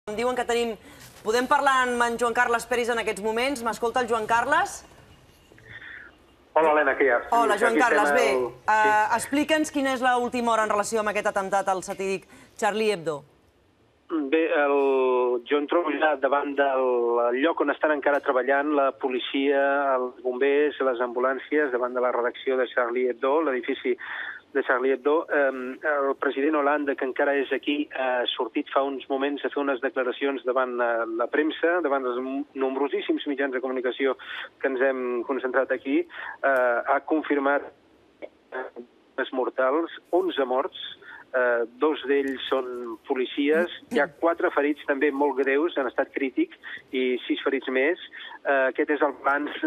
Em diuen que tenim... Podem parlar amb en Joan Carles Peris en aquests moments? M'escolta el Joan Carles? Hola, Helena, què hi ha? Hola, Joan Carles. Bé, explica'ns quina és l'última hora en relació amb aquest atemptat al satíric Charlie Hebdo. Bé, jo em trobo ja davant del lloc on estan encara treballant la policia, els bombers, les ambulàncies, davant de la redacció de Charlie Hebdo, l'edifici de Charlie Hebdo. El president Hollande, que encara és aquí, ha sortit fa uns moments a fer unes declaracions davant la premsa, davant els nombrosíssims mitjans de comunicació que ens hem concentrat aquí. Ha confirmat mortals, 11 morts, dos d'ells són policies, hi ha 4 ferits també molt greus, en estat crític, i 6 ferits més. Aquest és el balanç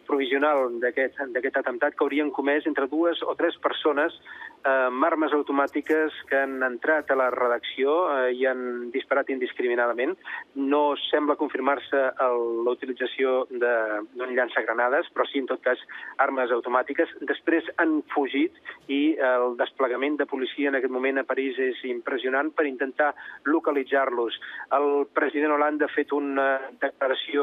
provisional d'aquest atemptat, que haurien comès entre 2 o 3 persones amb armes automàtiques que han entrat a la redacció i han disparat indiscriminadament. No sembla confirmar-se la utilització d'un llançagranades, però sí, en tot cas, armes automàtiques. Després han fugit i el desplegament de policia en aquest moment a París és impressionant per intentar localitzar-los. El president Hollande ha fet una declaració,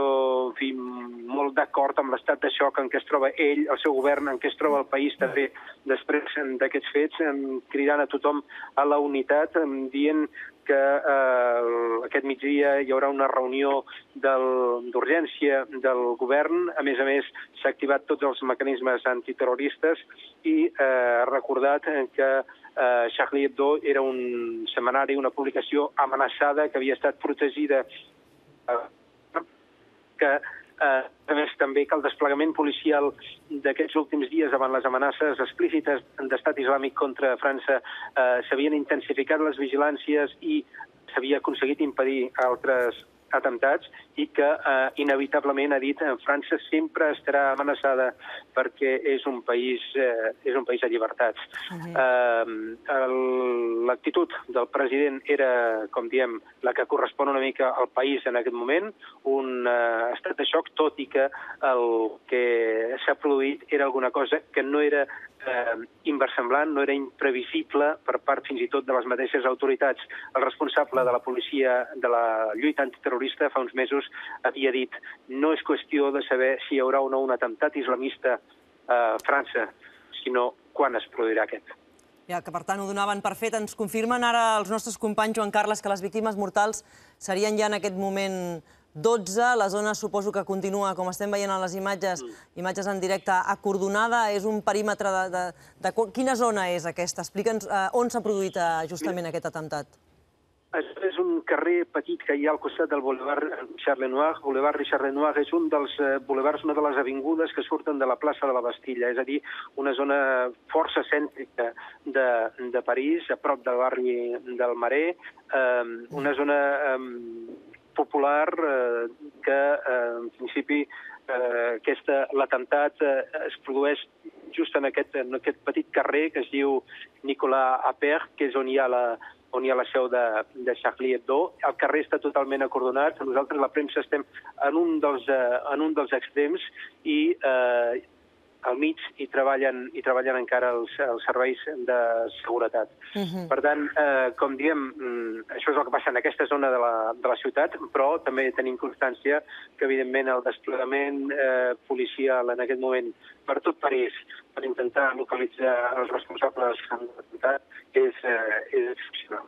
en fi, molt d'acord amb l'estat de xoc en què es troba ell, el seu govern, en què es troba el país també després d'aquests fets, cridant a tothom a la unitat, dient que aquest migdia hi haurà una reunió d'urgència del govern. A més, s'ha activat tots els mecanismes antiterroristes i ha recordat que Charlie Hebdo era un setmanari, una publicació amenaçada, que havia estat protegida, que a més també que el desplegament policial d'aquests últims dies davant les amenaces explícites d'estat islàmic contra França s'havien intensificat les vigilàncies i s'havia aconseguit impedir altres atemptats i que inevitablement, ha dit, França sempre estarà amenaçada perquè és un país de llibertats. L'actitud del president era, com diem, la que correspon una mica al país en aquest moment, un estat de xoc, tot i que el que s'ha produït era alguna cosa que no era inversemblant, no era imprevisible per part fins i tot de les mateixes autoritats. El responsable de la policia de la lluita antiterrorista fa uns mesos havia dit: no és qüestió de saber si hi haurà o no un atemptat islamista a França, sinó quan es produirà aquest. Ja, que per tant ho donaven per fet. Ens confirmen ara els nostres companys, Joan Carles, que les víctimes mortals serien ja en aquest moment 12. La zona suposo que continua, com estem veient a les imatges en directe, acordonada. És un perímetre de... Quina zona és aquesta? Explica'ns on s'ha produït justament aquest atemptat. És un carrer petit que hi ha al costat del Boulevard Richard Lenoir. Boulevard Richard Lenoir és un dels boulevards, una de les avingudes que surten de la plaça de la Bastilla, és a dir, una zona força cèntrica de París, a prop del barri del Marais, una zona popular que, en principi, l'atemptat es produeix just en aquest petit carrer que es diu Nicolas Appert, que és on hi ha la seu de Charlie Hebdo. El carrer està totalment acordonat. Nosaltres, la premsa, estem en un dels extrems i al mig hi treballen encara els serveis de seguretat. Per tant, com diem, això és el que passa en aquesta zona de la ciutat, però també tenim constància que, evidentment, el desplegament policial en aquest moment per tot París per intentar localitzar els responsables de l'atemptat és excepcional.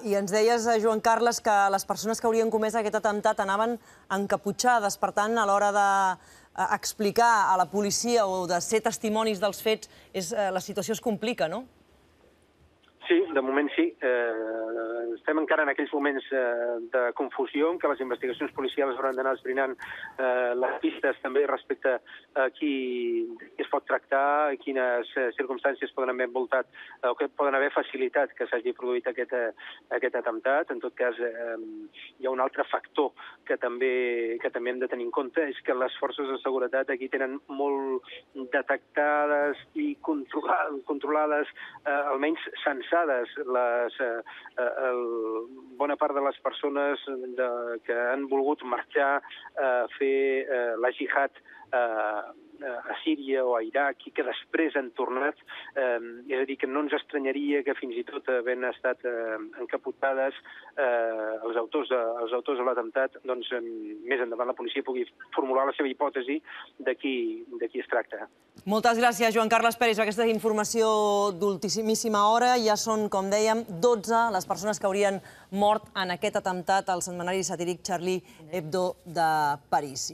I ens deies, Joan Carles, que les persones que haurien comès aquest atemptat anaven encaputxades. Per tant, a l'hora d'explicar a la policia o de ser testimonis dels fets, la situació es complica, no? Sí, de moment sí. Estem encara en aquells moments de confusió en què les investigacions policials hauran d'anar esbrinant les pistes també respecte a qui es pot tractar, quines circumstàncies poden haver envoltat o que poden haver facilitat que s'hagi produït aquest atemptat. En tot cas, hi ha un altre factor que també hem de tenir en compte, és que les forces de seguretat aquí tenen molt detectades i controlades, almenys censades, bona part de les persones que han volgut marxar a fer la jihad a Síria o a Iraq i que després han tornat. És a dir, que no ens estranyaria que fins i tot havent estat encapotades els autors de l'atemptat, doncs més endavant la policia pugui formular la seva hipòtesi de qui es tracta. Moltes gràcies, Joan Carles Peris, per aquesta informació d'ultimíssima hora. Ja són, com dèiem, 12 les persones que haurien mort en aquest atemptat al setmanari satíric Charlie Hebdo de París.